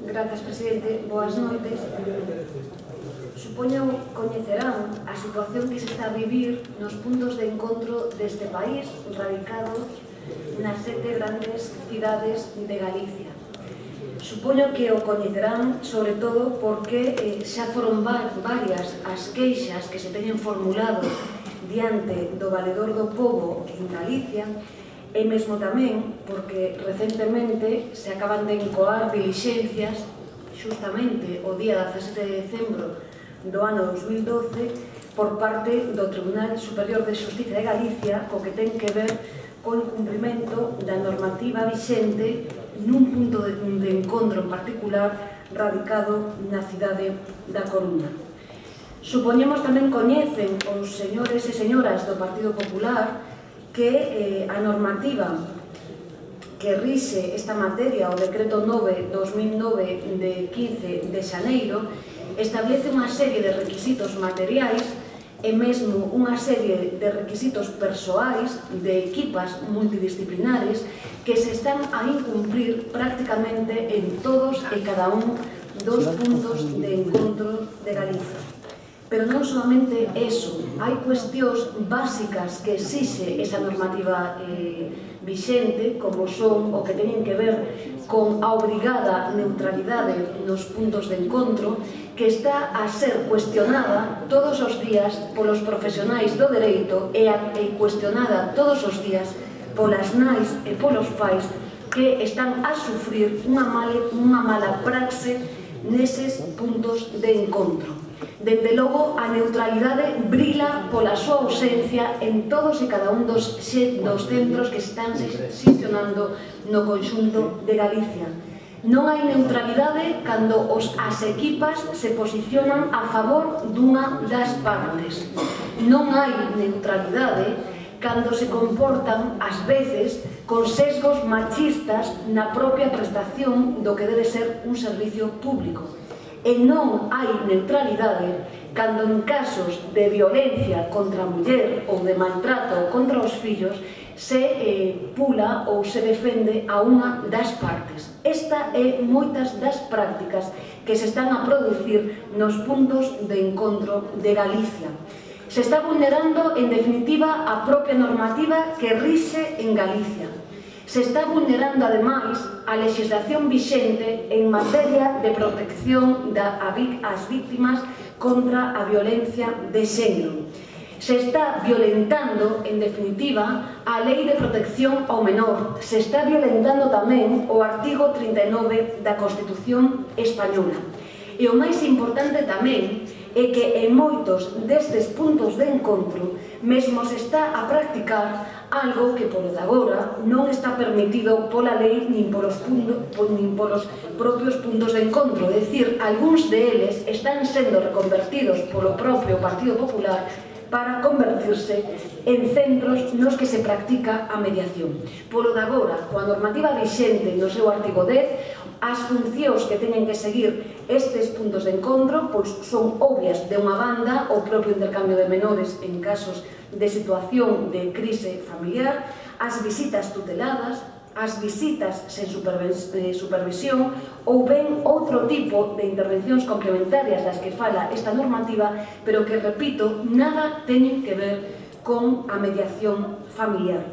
Grazas, presidente. Boas noites. Supoño coñecerán a situación que se está a vivir nos puntos de encontro deste país radicados nas 7 grandes cidades de Galicia. Supoño que o coñecerán, sobre todo, porque xa foron varias as queixas que se teñen formulado diante do Valedor do Pobo en Galicia, e mesmo tamén porque recentemente se acaban de encoar dilixencias xustamente o día 17 de decembro do ano 2012 por parte do Tribunal Superior de Xustiza de Galicia, co que ten que ver co incumprimento da normativa vixente nun punto de encontro en particular radicado na cidade da Coruña. Supoñemos tamén coñecen os señores e señoras do Partido Popular que a normativa que rixe esta materia, o Decreto 9/2009 de 15 de xaneiro, establece unha serie de requisitos materiais e mesmo unha serie de requisitos persoais de equipas multidisciplinares que se están a incumplir prácticamente en todos e cada un dos puntos de encontro de Galicia. Pero non solamente eso, hai cuestións básicas que exixe esa normativa vixente, como son o que teñen que ver con a obrigada neutralidade nos puntos de encontro, que está a ser cuestionada todos os días polos profesionais do dereito e cuestionada todos os días polas nais e polos pais que están a sufrir unha mala praxe neses puntos de encontro. Dende logo, a neutralidade brila pola súa ausencia en todos e cada un dos centros que están xestionando no conxunto de Galicia. Non hai neutralidade cando as equipas se posicionan a favor dunha das partes. Non hai neutralidade cando se comportan, ás veces, con sesgos machistas na propia prestación do que debe ser un servicio público. E non hai neutralidade cando en casos de violencia contra a muller ou de maltrato contra os fillos se pula ou se defende a unha das partes. Esta é moitas das prácticas que se están a producir nos puntos de encontro de Galicia. Se está vulnerando, en definitiva, a propia normativa que rixe en Galicia. Se está vulnerando, ademais, a legislación vixente en materia de protección ás víctimas contra a violencia de xénero. Se está violentando, en definitiva, a Lei de Protección ao Menor. Se está violentando tamén o artigo 39 da Constitución Española. E o máis importante tamén é que en moitos destes puntos de encontro mesmo se está a practicar algo que polo de agora non está permitido pola lei nin polos propios puntos de encontro. É dicir, algúns deles están sendo reconvertidos polo propio Partido Popular para convertirse en centros nos que se practica a mediación. Polo de agora, coa normativa vixente no seu artigo 10, as funcións que teñen que seguir estes puntos de encontro pois son obvias. De unha banda, o propio intercambio de menores en casos de situación de crise familiar, as visitas tuteladas, as visitas sen supervisión ou ben outro tipo de intervencións complementarias das que fala esta normativa, pero que, repito, nada teñen que ver con a mediación familiar.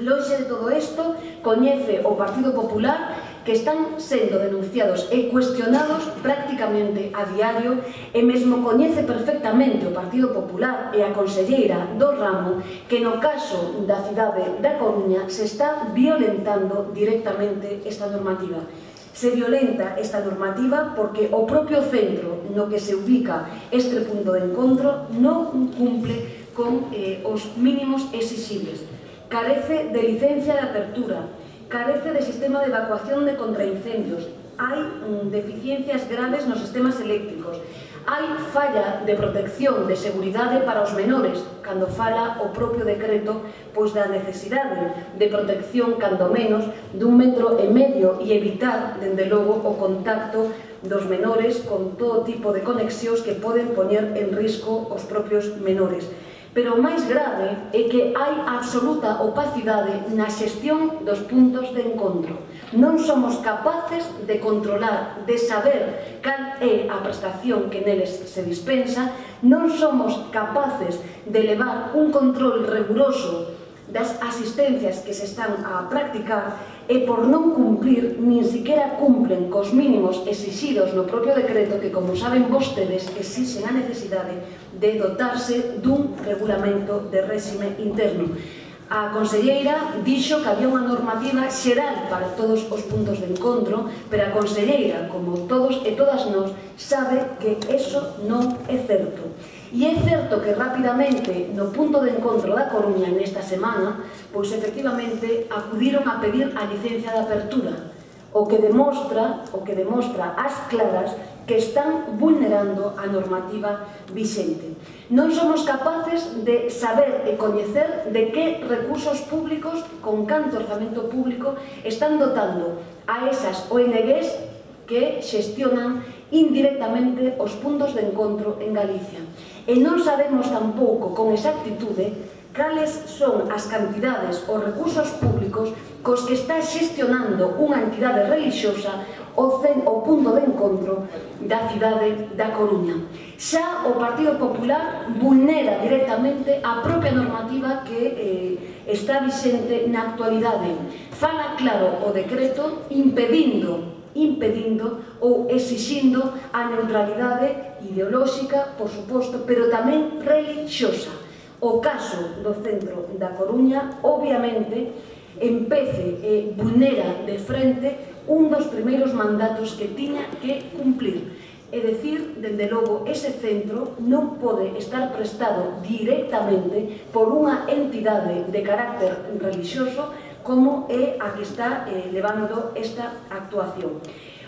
Lonxe de todo isto, coñece o Partido Popular que están sendo denunciados e cuestionados prácticamente a diario, e mesmo coñece perfectamente o Partido Popular e a conselleira do ramo que no caso da cidade da Coruña se está violentando directamente esta normativa. Se violenta esta normativa porque o propio centro no que se ubica este punto de encontro non cumple con os mínimos exixibles. Carece de licencia de apertura, carece de sistema de evacuación de contraincendios, hai deficiencias graves nos sistemas eléctricos, hai falla de protección de seguridade para os menores, cando fala o propio decreto pois da necesidade de protección, cando menos, d'1,5 metro e evitar, dende logo, o contacto dos menores con todo tipo de conexións que poden poñer en risco os propios menores. Pero o máis grave é que hai absoluta opacidade na xestión dos puntos de encontro. non somos capaces de controlar, de saber cal é a prestación que neles se dispensa, non somos capaces de levar un control riguroso das asistencias que se están a practicar e por non cumplir, nin siquiera cumplen cos mínimos exixidos no propio decreto que, como saben vostedes, exixen a necesidade de dotarse dun regulamento de réxime interno. A conselleira dixo que había unha normativa xeral para todos os puntos de encontro, pero a conselleira, como todos e todas nós, sabe que eso non é certo. E é certo que rapidamente no punto de encontro da Coruña nesta semana, pois efectivamente acudiron a pedir a licencia de apertura, o que demostra ás claras que están vulnerando a normativa vixente. Non somos capaces de saber e coñecer de que recursos públicos, con canto orzamento público, están dotando a esas ONGs que xestionan indirectamente os puntos de encontro en Galicia. E non sabemos tampouco con exactitude cales son as cantidades ou recursos públicos cos que está xestionando unha entidade relixiosa o punto de encontro da cidade da Coruña. Xa o Partido Popular vulnera directamente a propia normativa que está vixente na actualidade. Fala claro o decreto impedindo ou exixindo a neutralidade ideolóxica, por suposto, pero tamén relixiosa. O caso do centro da Coruña, obviamente, empece e vulnera de frente un dos primeiros mandatos que tiña que cumplir. É dicir, dende logo, ese centro non pode estar prestado directamente por unha entidade de carácter relixioso como é a que está levando esta actuación.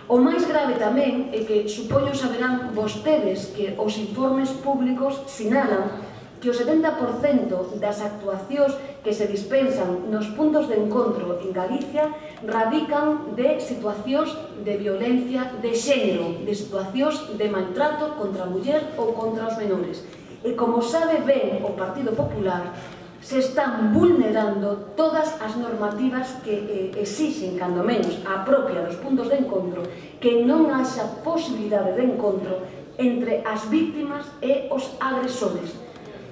O máis grave tamén é que supoño saberán vostedes que os informes públicos sinalan que o 70% das actuacións que se dispensan nos puntos de encontro en Galicia radican de situacións de violencia de xénero, de situacións de maltrato contra a muller ou contra os menores. E como sabe ben o Partido Popular, se están vulnerando todas as normativas que exixen, cando menos, a propia dos puntos de encontro, que non haxa posibilidade de encontro entre as víctimas e os agresores.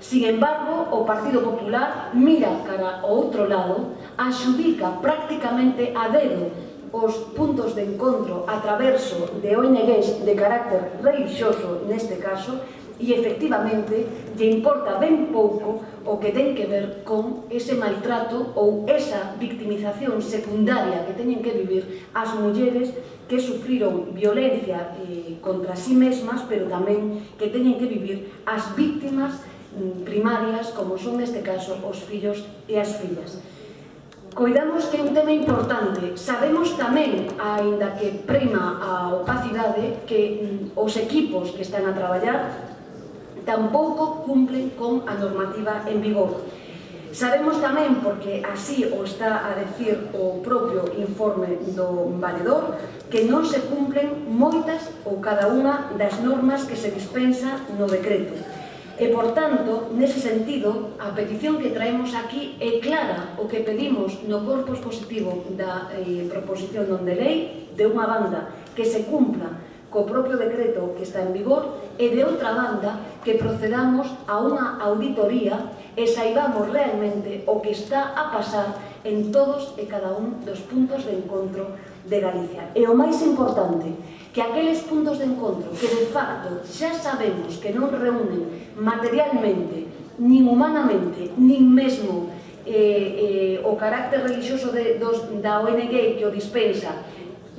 Sin embargo, o Partido Popular mira cara ao outro lado, adxudica prácticamente a dedo os puntos de encontro a traverso de ONGs de carácter relixioso, neste caso, e efectivamente lle importa ben pouco o que ten que ver con ese maltrato ou esa victimización secundaria que teñen que vivir as mulleres que sufriron violencia contra sí mesmas, pero tamén que teñen que vivir as víctimas primarias, como son neste caso os fillos e as fillas. Coidamos que é un tema importante. Sabemos tamén, aínda que prima a opacidade, que os equipos que están a traballar tampouco cumplen con a normativa en vigor. Sabemos tamén, porque así o está a decir o propio informe do valedor, que non se cumplen moitas ou cada unha das normas que se dispensa no decreto. E, por tanto, nese sentido, a petición que traemos aquí é clara. O que pedimos no corpo expositivo da proposición non de lei, de unha banda, que se cumpla co propio decreto que está en vigor, e de outra banda, que procedamos a unha auditoría e saibamos realmente o que está a pasar en todos e cada un dos puntos de encontro de Galicia. E o máis importante, que aqueles puntos de encontro que de facto xa sabemos que non reúnen materialmente, nin humanamente, nin mesmo o carácter relixioso da ONG que o dispensa,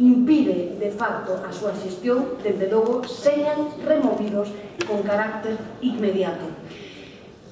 impide de facto a súa xestión, desde logo señan removidos con carácter inmediato.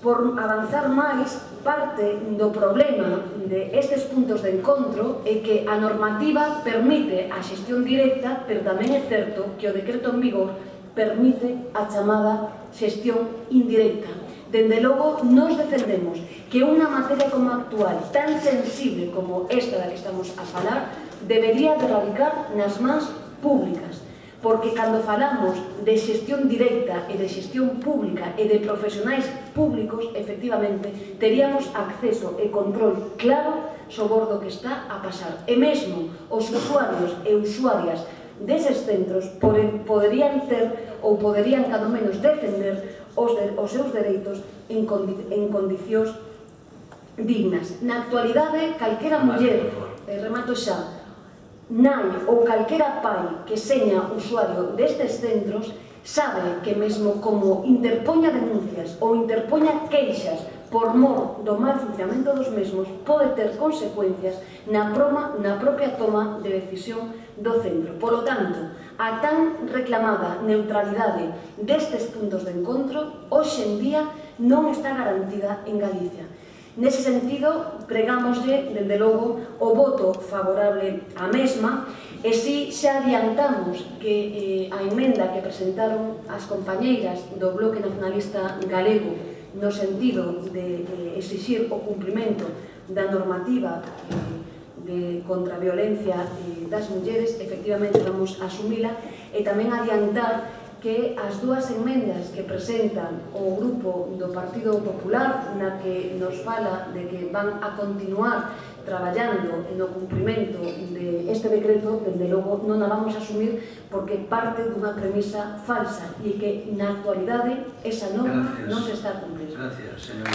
Por avanzar máis, parte do problema destes puntos de encontro é que a normativa permite a xestión directa, pero tamén é certo que o decreto en vigor permite a chamada xestión indirecta. Dende logo, nos defendemos que unha materia como a actual, tan sensible como esta da que estamos a falar, debería de radicar nas mans públicas, porque cando falamos de xestión directa e de xestión pública e de profesionais públicos, efectivamente, teríamos acceso e control claro sobre o que está a pasar. E mesmo os usuarios e usuarias deses centros poderían ter ou poderían, cando menos, defender os seus dereitos en condicións dignas. Na actualidade, calquera muller, remato xa, nai ou calquera pai que seña usuario destes centros sabe que mesmo como interpoña denuncias ou interpoña queixas por mor do mal funcionamento dos mesmos pode ter consecuencias na propia toma de decisión do centro. Por lo tanto, a tan reclamada neutralidade destes puntos de encontro hoxe en día non está garantida en Galicia. Nese sentido, pregámoslle, dende logo, o voto favorable á mesma, e si xa adiantamos que a emenda que presentaron as compañeiras do Bloque Nacionalista Galego no sentido de exixir o cumprimento da normativa contra a violencia das mulleres, efectivamente vamos a asumila, e tamén adiantar que as dúas emendas que presentan o grupo do Partido Popular, na que nos fala de que van a continuar traballando no cumprimento deste decreto, dende logo non a vamos a asumir porque parte dunha premisa falsa e que na actualidade esa norma non se está cumplindo. Gracias, señora.